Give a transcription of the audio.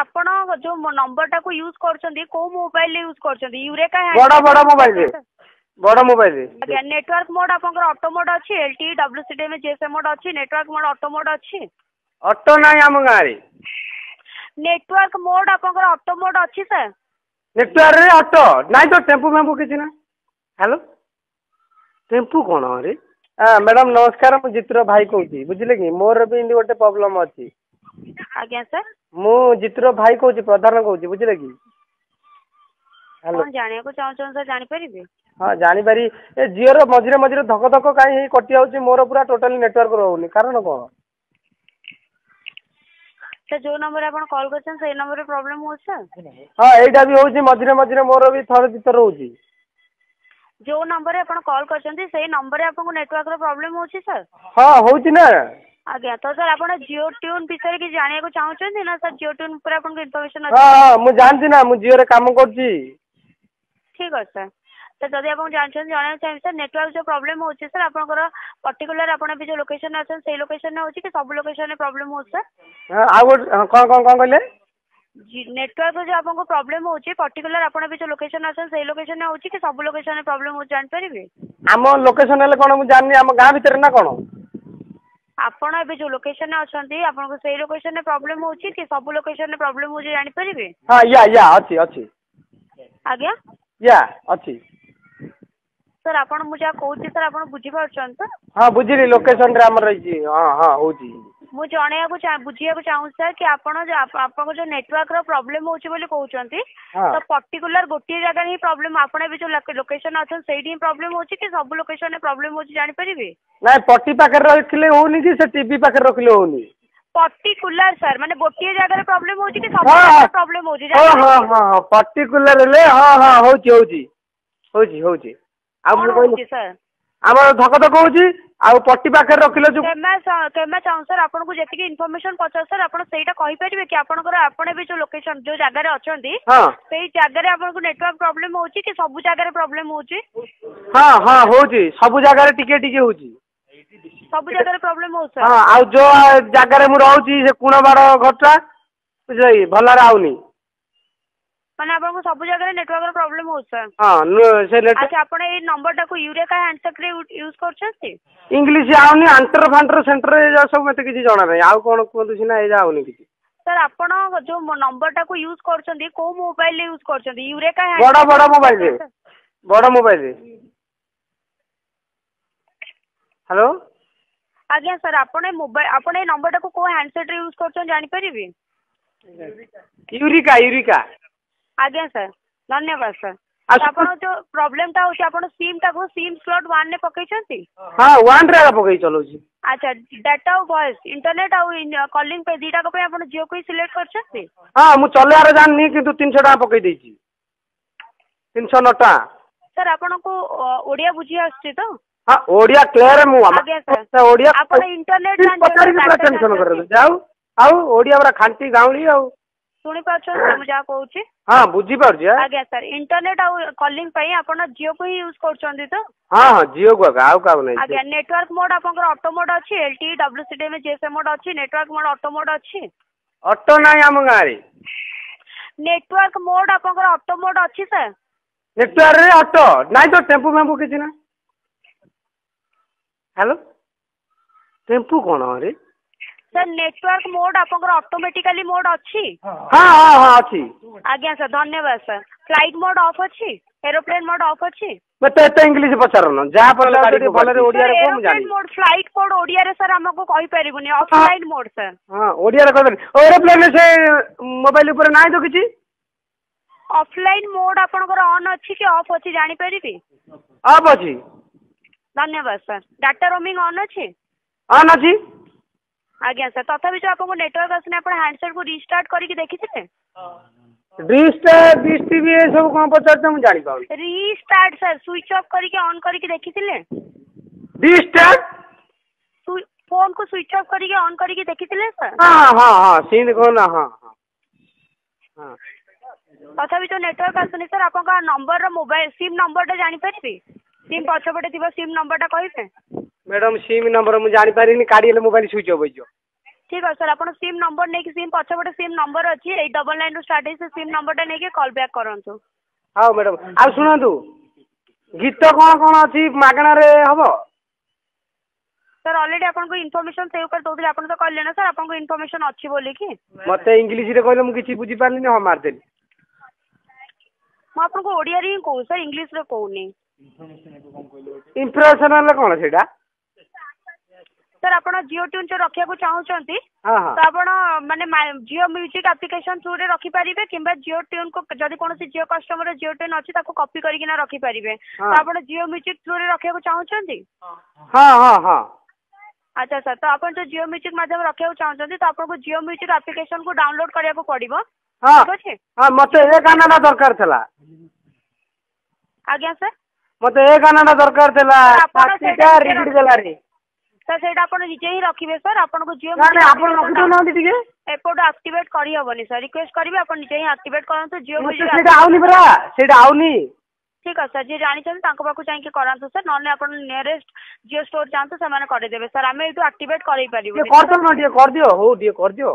ଆପଣ ଯେଉଁ ନମ୍ବରଟାକୁ ୟୁଜ୍ କରୁଛନ୍ତି, କେଉଁ ମୋବାଇଲରେ ୟୁଜ୍ କରୁଛନ୍ତି? ୟୁରେକା? ବଡ଼ ବଡ଼ ମୋବାଇଲରେ, ବଡ଼ ମୋବାଇଲରେ। ଆଜ୍ଞା। ନେଟୱାର୍କ ମୋଡ୍ ଆପଣଙ୍କର ଅଟୋ ମୋଡ୍ ଅଛି, LTE, WCDMA, GSM mode ଅଛି, ନେଟୱାର୍କ ମୋଡ୍ ଅଟୋ ମୋଡ୍ ଅଛି? ଅଟୋ ନାହିଁ ଆମ ଗାଁରେ। ନେଟୱାର୍କ ମୋଡ୍ ଆପଣଙ୍କର ଅଟୋ ମୋଡ୍ ଅଛି ସାର୍? ନେଟୱାର୍କରେ ଅଟୋ ନାଇଁ ତ, ଟେମ୍ପୁ ଫେମ୍ପୁ କିଛି ନାହିଁ। ହ୍ୟାଲୋ, ଟେମ୍ପୁ କ'ଣ ରେ? ମ୍ୟାଡ଼ାମ୍ ନମସ୍କାର, ମୁଁ ଜିତୁର ଭାଇ କହୁଛି, ବୁଝିଲେ କି? ମୋର ବି ଏମିତି ଗୋଟେ ପ୍ରୋବ୍ଲେମ୍ ଅଛି। ଆଜ୍ଞା ସାର୍। ମୁଁ ଜିତୁର ଭାଇ କହୁଛି, ପ୍ରଧାନ କହୁଛି, ବୁଝିଲେ କି? ହ୍ୟାଲୋ। କ'ଣ ଜାଣିବାକୁ ଚାହୁଁଛନ୍ତି ସାର୍, ଜାଣିପାରିବି? ହଁ, ଜାଣିପାରି। ଏ ଜିଓର ମଝିରେ ମଝିରେ ଧକ ଧକ କାହିଁ ହେଇ କଟିଯାଉଛି? ମୋର ପୁରା ଟୋଟାଲି ନେଟୱାର୍କ ରହୁନି, କାରଣ କ'ଣ? ସାର୍, ଯେଉଁ ନମ୍ବରରେ ଆପଣ କଲ୍ କରିଛନ୍ତି, ସେଇ ନମ୍ବରରେ ପ୍ରୋବ୍ଲେମ୍ ହେଉଛି ସାର୍? ହଁ, ଏଇଟା ବି ହେଉଛି ମଝିରେ ମଝିରେ, ମୋର ବି ଥରେ ଦୁଇଥର ହେଉଛି। ଯେଉଁ ନମ୍ବରରେ ଆପଣ କଲ୍ କରିଛନ୍ତି, ସେଇ ନମ୍ବରରେ ଆପଣଙ୍କୁ ନେଟୱାର୍କର ପ୍ରୋବ୍ଲେମ୍ ହେଉଛି ସାର୍? ହଁ, ହେଉଛି ନା। ଆଜ୍ଞା, ତ ସାର୍, ଆପଣ ଜିଓ ଟ୍ୟୁନ୍ ବିଷୟରେ କିଛି ଜାଣିବାକୁ ଚାହୁଁଛନ୍ତି ନା ସାର୍? ଜିଓ ଟ୍ୟୁନ୍ ଉପରେ ଆପଣଙ୍କୁ ଇନଫର୍ମେସନ୍ ଅଛି? ହଁ, ମୁଁ ଜାଣିଛି ନା, ମୁଁ ଜିଓରେ କାମ କରୁଛି। ଠିକ୍ ଅଛି ସାର୍। ତ ଯଦି ଆପଣ ଜାଣିଛନ୍ତି, ଜଣାଇବାକୁ ଚାହିଁବି ସାର୍, ନେଟୱାର୍କ ଯେଉଁ ପ୍ରୋବ୍ଲେମ୍ ହେଉଛି ସାର୍, ଆପଣଙ୍କର ପର୍ଟିକୁଲାର ଆପଣ ଏବେ ଯେଉଁ ଲୋକେସନ୍ରେ ଅଛନ୍ତି, ସେଇ ଲୋକେସନ୍ରେ ହେଉଛି କି ସବୁ ଲୋକେସନ୍ରେ ପ୍ରୋବ୍ଲେମ୍ ହେଉଛି ସାର୍? ହଁ, ଆଉ ଗୋଟେ କ'ଣ କ'ଣ କ'ଣ କହିଲେ? ନେଟୱାର୍କର ଯେଉଁ ଆପଣଙ୍କୁ ପ୍ରୋବ୍ଲେମ୍ ହେଉଛି, ପର୍ଟିକୁଲାର ଆପଣ ଏବେ ଯେଉଁ ଲୋକେସନ୍ରେ ଅଛନ୍ତି, ସେଇ ଲୋକେସନ୍ରେ ହେଉଛି କି ସବୁ ଲୋକେସନ୍ରେ ପ୍ରୋବ୍ଲେମ୍ ହେଉଛି, ଜାଣିପାରିବେ? ଆମ ଲୋକେସନ୍ ହେଲେ କ'ଣ ମୁଁ ଜାଣିନି, ଆମ ଗାଁ ଭିତରେ ନା କ'ଣ? ଆପଣ ଏବେ ଯେଉଁ ଲୋକେସନ୍ରେ ଅଛନ୍ତି, ଆପଣଙ୍କୁ ସେଇ ଲୋକେସନ୍ରେ ପ୍ରୋବ୍ଲେମ୍ ହେଉଛି କି ସବୁ ଲୋକେସନ୍ରେ ପ୍ରୋବ୍ଲେମ୍ ହେଉଛି, ଜାଣିପାରିବେ? ହଁ, ୟା ୟା ଅଛି ଅଛି। ଆଜ୍ଞା? ୟା, ଅଛି। ସାର୍, ଆପଣ ମୁଁ ଯାହା କହୁଛି ସାର୍, ଆପଣ ବୁଝିପାରୁଛନ୍ତି ତ? ହଁ, ବୁଝିଲି। ଲୋକେସନ୍ରେ ଆମର ରହିଛି। ହଁ ହଁ, ହେଉଛି। ମୁଁ ଜଣେଇବାକୁ ବୁଝିବାକୁ ଚାହୁଁଛି ସାର୍ କି ଆପଣ ଆପଣଙ୍କ ଯେଉଁ ନେଟୱାର୍କର ପ୍ରୋବ୍ଲେମ୍ ହେଉଛି ବୋଲି କହୁଛନ୍ତି, ତ ପର୍ଟିକୁଲାର ଗୋଟିଏ ଜାଗାରେ ହିଁ ପ୍ରୋବ୍ଲେମ୍, ଆପଣ ଏବେ ଯେଉଁ ଲୋକେସନ୍ ଅଛନ୍ତି, ସେଇଠି ହିଁ ପ୍ରୋବ୍ଲେମ୍ ହେଉଛି କି ସବୁ ଲୋକେସନ୍ରେ ପ୍ରୋବ୍ଲେମ୍ ହେଉଛି, ଜାଣିପାରିବେ? ନାଇଁ, ପଟି ପାଖରେ ରଖିଲେ ହେଉନି କି ସେ ଟିଭି ପାଖରେ ରଖିଲେ ହେଉନି। ପର୍ଟିକୁଲାର ସାର୍, ମାନେ ଗୋଟିଏ ଜାଗାରେ ପ୍ରୋବ୍ଲେମ୍ ହେଉଛି କି ସବୁ ଜାଗାରେ ପ୍ରୋବ୍ଲେମ୍ ହେଉଛି? ହଁ ହଁ ହଁ ହଁ, ପର୍ଟିକୁଲାର ହେଲେ ହଁ ହଁ, ହେଉଛି ହେଉଛି ହେଉଛି ହେଉଛି। ଆଉ ମୁଁ କହିଲି ସାର୍, ଆମର ଧକ ଧକ ହେଉଛି ଆଉ ପଟି ପାଖରେ ରଖିଲେ ଯୋଉ। କ୍ଷମା ଚାହୁଁ ସାର୍, ଆପଣଙ୍କୁ ଯେତିକି ଇନଫର୍ମେସନ୍ ପଚାର ସାର୍, ଆପଣ ସେଇଟା କହିପାରିବେ କି ଆପଣଙ୍କର ଆପଣ ଏବେ ଯେଉଁ ଲୋକେସନ୍, ଯେଉଁ ଜାଗାରେ ଅଛନ୍ତି, ସେଇ ଜାଗାରେ ଆପଣଙ୍କୁ ନେଟୱାର୍କ ପ୍ରୋବ୍ଲେମ୍ ହେଉଛି କି ସବୁ ଜାଗାରେ ପ୍ରୋବ୍ଲେମ୍ ହେଉଛି? ହଁ ହଁ, ହେଉଛି, ସବୁ ଜାଗାରେ ଟିକେ ଟିକେ ହେଉଛି। ସବୁ ଜାଗାରେ ପ୍ରୋବ୍ଲେମ୍ ହେଉଛି ସାର୍? ହଁ, ଆଉ ଯେଉଁ ଜାଗାରେ ମୁଁ ରହୁଛି, ସେ କୁଣବାଡ଼ ଘରଟା, ବୁଝିଲେ କି, ଭଲରେ ଆଉନି। ମାନେ ଆପଣଙ୍କୁ ସବୁ ଜାଗାରେ ନେଟୱାର୍କର ପ୍ରୋବ୍ଲେମ୍ ହେଉଛି ସାର୍? ହଁ, ସେ। ଆଚ୍ଛା, ଆପଣ ଏଇ ନମ୍ବରଟାକୁ ୟୁରେକା ହ୍ୟାଣ୍ଡସେଟ୍ରେ ୟୁଜ୍ କରୁଛନ୍ତି? ଇଂଲିଶ ଆଉନି, ଆଣ୍ଟର ଫାଣ୍ଟର ସେଣ୍ଟର ଏ ସବୁ ମୋତେ କିଛି ଜଣା ନାହିଁ। ଆଉ କ'ଣ କୁହନ୍ତୁ ସିନା, ଏଇଟା ଆଉନି କିଛି। ସାର୍, ଆପଣ ଯେଉଁ ନମ୍ବରଟାକୁ ୟୁଜ୍ କରୁଛନ୍ତି, କେଉଁ ମୋବାଇଲରେ ୟୁଜ୍ କରୁଛନ୍ତି? ୟୁରେକା? ବଡ଼ ବଡ଼ ମୋବାଇଲରେ, ବଡ଼ ମୋବାଇଲରେ। ହ୍ୟାଲୋ। ଆଜ୍ଞା ସାର୍, ଆପଣ ଏ ମୋବାଇଲ, ଆପଣ ଏଇ ନମ୍ବରଟାକୁ କେଉଁ ହ୍ୟାଣ୍ଡସେଟ୍ରେ ୟୁଜ୍ କରୁଛନ୍ତି, ଜାଣିପାରିବି? ୟୁରିକା, ୟୁରିକା। ଆଜ୍ଞା ସାର୍, ଧନ୍ୟବାଦ ସାର୍। ଆପଣ ଯେଉଁ ପ୍ରୋବ୍ଲେମ୍ଟା ହେଉଛି, ଆପଣ ସିମ୍ଟାକୁ ସିମ୍ ସ୍ଲଟ୍ ୱାନ୍ରେ ପକେଇଛନ୍ତି? ହଁ, ୱାନ୍ରେ ଏକା ପକେଇ ଚଲାଉଛି। ଆଚ୍ଛା, ଡାଟା ଆଉ ଭଏସ୍, ଇଣ୍ଟରନେଟ୍ ଆଉ କଲିଂ ପାଇଁ ଦୁଇଟାକ ପାଇଁ ଆପଣ ଜିଓକୁ ହିଁ ସିଲେକ୍ଟ କରିଛନ୍ତି? ହଁ, ମୁଁ ଚଲେଇବାର ଜାଣିନି, କିନ୍ତୁ 300 ଟଙ୍କା ପକେଇ ଦେଇଛି, 309 ଟଙ୍କା। ସାର୍, ଆପଣଙ୍କୁ ଓଡ଼ିଆ ବୁଝି ଆସୁଛି ତ? ହଁ, ଓଡ଼ିଆ କ୍ଲିୟର ମୁଁ। ଆଜ୍ଞା ସାର୍, ଓଡ଼ିଆ ଆପଣ ଇଣ୍ଟରନେଟ୍ ପଚାରିକି ପୁରା ଟେନସନ୍ କରିଦେବେ। ଆଉ ଆଉ ଓଡ଼ିଆ ପୁରା ଖାଣ୍ଟି ଗାଉଁଲି ଆଉ। ଶୁଣିପାରୁଛନ୍ତି ମୁଁ ଯାହା କହୁଛି? ହଁ, ବୁଝିପାରୁଛି। ଆଜ୍ଞା ସାର୍, ଇଣ୍ଟରନେଟ୍ ଆଉ କଲିଂ ପାଇଁ ଆପଣ ଜିଓକୁ ହିଁ ୟୁଜ୍ କରୁଛନ୍ତି ତ? ହଁ ହଁ, ଜିଓକୁ ଏକା, ଆଉ କାହାକୁ ନାହିଁ। ଆଜ୍ଞା, ନେଟୱାର୍କ ମୋଡ୍ ଆପଣଙ୍କର ଅଟୋ ମୋଡ୍ ଅଛି, LTE, WCDMA, GSM mode ଅଛି, ନେଟୱାର୍କ ମୋଡ୍ ଅଟୋ ମୋଡ୍ ଅଛି? ଅଟୋ ନାହିଁ ଆମ ଗାଁରେ। ନେଟୱାର୍କ ମୋଡ୍ ଆପଣଙ୍କର ଅଟୋ ମୋଡ୍ ଅଛି ସାର୍? ନେଟୱାର୍କରେ ଅଟୋ ନାଇଁ ତ, ଟେମ୍ପୁ ଫେମ୍ପୁ କିଛି ନାହିଁ। ହ୍ୟାଲୋ, ଟେମ୍ପୁ କ'ଣ ରେ? ସାର୍, ନେଟୱାର୍କ ମୋଡ୍ ଆପଣଙ୍କର ଅଟୋମେଟିକାଲି ମୋଡ୍ ଅଛି? ହଁ ହଁ ହଁ, ଅଛି। ଆଜ୍ଞା ସାର୍, ଧନ୍ୟବାଦ ସାର୍। ଫ୍ଲାଇଟ୍ ମୋଡ୍ ଅଫ୍ ଅଛି? ଏରୋପ୍ଲେନ୍ ମୋଡ୍ ଅଫ୍ ଅଛି? ମତେ ଏତେ ଇଂଲିଶ ପଚାରନ, ଯାହା ପଚାରୁଛ ଟିକେ ଭଲରେ ଓଡ଼ିଆରେ କୁହ, ମୁଁ ଜାଣିବି। ମୋଡ୍, ଫ୍ଲାଇଟ୍ ମୋଡ୍ ଓଡ଼ିଆରେ ସାର୍ ଆମକୁ କହିପାରିବୁନି, ଅଫଲାଇନ୍ ମୋଡ୍ ସାର୍। ହଁ, ଓଡ଼ିଆରେ କହିପାରିବି। ଏରୋପ୍ଲେନ୍ ସେ ମୋବାଇଲ ଉପରେ ନାହିଁ ତ କିଛି। ଅଫଲାଇନ୍ ମୋଡ୍ ଆପଣଙ୍କର ଅନ୍ ଅଛି କି ଅଫ୍ ଅଛି, ଜାଣିପାରିବି? ଅଫ୍ ଅଛି। ଧନ୍ୟବାଦ ସାର୍। ଡାଟା ରୋମିଂ ଅନ୍ ଅଛି? ଅନ୍ ଅଛି। ଆଜ୍ଞା ସାର୍, ତଥାପି ଯେଉଁ ଆପଣଙ୍କୁ ନେଟୱାର୍କ ଆସୁନି, ଆପଣ ହ୍ୟାଣ୍ଡସେଟ୍କୁ ରିଷ୍ଟାର୍ଟ କରିକି ଦେଖିଥିଲେ? ରିଷ୍ଟାର୍ଟ, ଡିସ୍ ଟିଭି ଏସବୁ କ'ଣ ପଚାରୁଛ, ମୁଁ ଜାଣିପାରୁନି। ରିଷ୍ଟାର୍ଟ ସାର୍, ସୁଇଚ୍ ଅଫ୍ କରିକି ଅନ୍ କରିକି ଦେଖିଥିଲେ? ରିଷ୍ଟାର୍ଟ? ଫୋନ୍କୁ ସୁଇଚ୍ ଅଫ୍ କରିକି ଅନ୍ କରିକି ଦେଖିଥିଲେ ସାର୍? ହଁ ହଁ ହଁ, ସେମିତି କହୁନ। ହଁ ହଁ ହଁ। ତଥାପି ଯେଉଁ ନେଟୱାର୍କ ଆସୁନି ସାର୍, ଆପଣଙ୍କ ନମ୍ବରର ମୋବାଇଲ ସିମ୍ ନମ୍ବରଟା ଜାଣିପାରିବି? ସିମ୍ ପଛପଟେ ଥିବା ସିମ୍ ନମ୍ବରଟା କହିବେ? ମ୍ୟାଡ଼ାମ୍, ସିମ୍ ନମ୍ବର ମୁଁ ଜାଣିପାରିନି, କାଢ଼ି ହେଲେ ମୋବାଇଲ ସୁଇଚ୍ ଅଫ୍ ହେଇଯିବ। ଠିକ୍ ଅଛି ସାର୍, ଆପଣ ସିମ୍ ନମ୍ବର ନେଇକି, ସିମ୍ ପଛପଟେ ସିମ୍ ନମ୍ବର ଅଛି, 899ରୁ ଷ୍ଟାର୍ଟ ହେଇକି, ସେ ସିମ୍ ନମ୍ବରଟା ନେଇକି କଲ୍ ବ୍ୟାକ୍ କରନ୍ତୁ। ହଉ ମ୍ୟାଡ଼ାମ୍, ଆଉ ଶୁଣନ୍ତୁ, ଗୀତ କ'ଣ କ'ଣ ଅଛି ମାଗଣାରେ ହେବ? ସାର୍, ଅଲରେଡ଼ି ଆପଣଙ୍କୁ ଇନଫର୍ମେସନ୍ ସେଇ ଉପରେ ଦେଉଥିଲି। ଆପଣ ତ କହିଲେ ନା ସାର୍ ଆପଣଙ୍କୁ ଇନଫର୍ମେସନ୍ ଅଛି ବୋଲିକି। ମୋତେ ଇଂଲିଶରେ କହିଲେ, ମୁଁ କିଛି ବୁଝିପାରିଲିନି, ହଁ ମାରିଦେଲି। ମୁଁ ଆପଣଙ୍କୁ ଓଡ଼ିଆରେ ହିଁ କହୁଛି ସାର୍, ଇଂଲିଶରେ କହୁନି। ଇମ୍ପ୍ରେସନ୍ ହେଲେ କ'ଣ ସେଇଟା? ସାର୍, ଆପଣ ଜିଓ ଟ୍ୟୁନ୍ ଯେଉଁ ରଖିବାକୁ ଚାହୁଁଛନ୍ତି, ତ ଆପଣ ମାନେ ଜିଓ ମ୍ୟୁଜିକ୍ ଆପ୍ଲିକେସନ୍ ଥ୍ରୁରେ ରଖିପାରିବେ, କିମ୍ବା ଜିଓ ଟ୍ୟୁନ୍କୁ ଯଦି କୌଣସି ଜିଓ କଷ୍ଟମର ଜିଓ ଟ୍ୟୁନ୍ ଅଛି, ତାକୁ କପି କରିକିନା ରଖିପାରିବେ। ତ ଆପଣ ଜିଓ ମ୍ୟୁଜିକ୍ ଥ୍ରୁରେ ରଖିବାକୁ ଚାହୁଁଛନ୍ତି? ହଁ ହଁ ହଁ। ଆଚ୍ଛା ସାର୍, ତ ଆପଣ ଯେଉଁ ଜିଓ ମ୍ୟୁଜିକ୍ ମାଧ୍ୟମରେ ରଖିବାକୁ ଚାହୁଁଛନ୍ତି, ତ ଆପଣଙ୍କୁ ଜିଓ ମ୍ୟୁଜିକ୍ ଆପ୍ଲିକେସନ୍କୁ ଡାଉନଲୋଡ଼୍ କରିବାକୁ ପଡ଼ିବ। ଠିକ୍ ଅଛି। ହଁ, ମୋତେ ଏ ଗାନାଟା ଦରକାର ଥିଲା। ଆଜ୍ଞା ସାର୍? ମୋତେ ଏ ଗାନାଟା ଦରକାର ଥିଲା। ଆପଣ ଛାତିଟା ରିଗିଡ଼ି ଦେଲାରେ। ସାର୍, ସେଇଟା ଆପଣ ନିଜେ ହିଁ ରଖିବେ ସାର୍। ଆପଣଙ୍କୁ ଜିଓ ନା ନାଇଁ, ଆପଣ ରଖିଦେଉନାହାନ୍ତି ଟିକେ। ଏପଟୁ ଆକ୍ଟିଭେଟ୍ କରିହେବନି ସାର୍। ରିକ୍ୱେଷ୍ଟ କରିବି, ଆପଣ ନିଜେ ହିଁ ଆକ୍ଟିଭେଟ୍ କରନ୍ତୁ ଜିଓ ମ୍ୟୁଜିକ୍। ସେଇଟା ଆଉନି ପରା, ସେଇଟା ଆଉନି। ଠିକ୍ ଅଛି ସାର୍, ଯିଏ ଜାଣିଛନ୍ତି ତାଙ୍କ ପାଖକୁ ଯାଇକି କରାନ୍ତୁ ସାର୍, ନହେଲେ ଆପଣ ନିୟରେଷ୍ଟ ଜିଓ ଷ୍ଟୋର୍ ଯାଆନ୍ତୁ, ସେମାନେ କରିଦେବେ ସାର୍। ଆମେ ଏଇଠୁ ଆକ୍ଟିଭେଟ୍ କରେଇ ପାରିବୁନି। କରିଦେଉନ ଟିକେ, କରିଦିଅ। ହଉ, ଟିକେ କରିଦିଅ।